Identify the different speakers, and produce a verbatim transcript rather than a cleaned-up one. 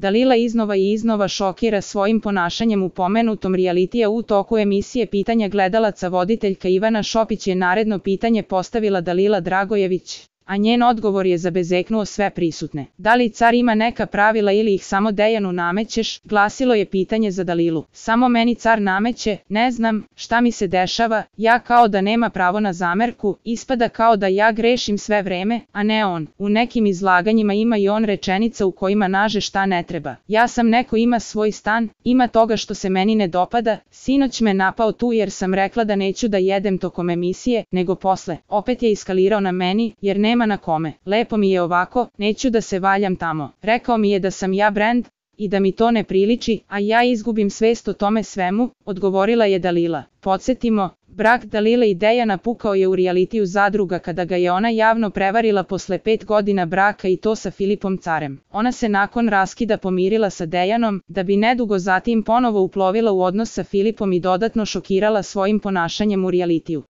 Speaker 1: Dalila iznova i iznova šokira svojim ponašanjem u pomenutom realitija. U toku emisije Pitanja gledalaca voditeljka Ivana Šopić je naredno pitanje postavila Dalila Dragojević, a njen odgovor je zabezeknuo sve prisutne. Da li car ima neka pravila ili ih samo Dejanu namećeš, glasilo je pitanje za Dalilu. Samo meni car nameće, ne znam šta mi se dešava, ja kao da nema pravo na zamerku, ispada kao da ja grešim sve vreme, a ne on. U nekim izlaganjima ima i on rečenica u kojima naže šta ne treba. Ja sam neko, ima svoj stan, ima toga što se meni ne dopada, sinoć me napao tu jer sam rekla da neću da jedem tokom emisije, nego posle. Opet je iskalirao na meni, jer ne nema na kome. Lepo mi je ovako, neću da se valjam tamo. Rekao mi je da sam ja brend i da mi to ne priliči, a ja izgubim svest o tome svemu, odgovorila je Dalila. Podsjetimo, brak Dalile i Dejana pukao je u realitiju Zadruga kada ga je ona javno prevarila posle pet godina braka i to sa Filipom Carem. Ona se nakon raskida pomirila sa Dejanom, da bi nedugo zatim ponovo uplovila u odnos sa Filipom i dodatno šokirala svojim ponašanjem u realitiju.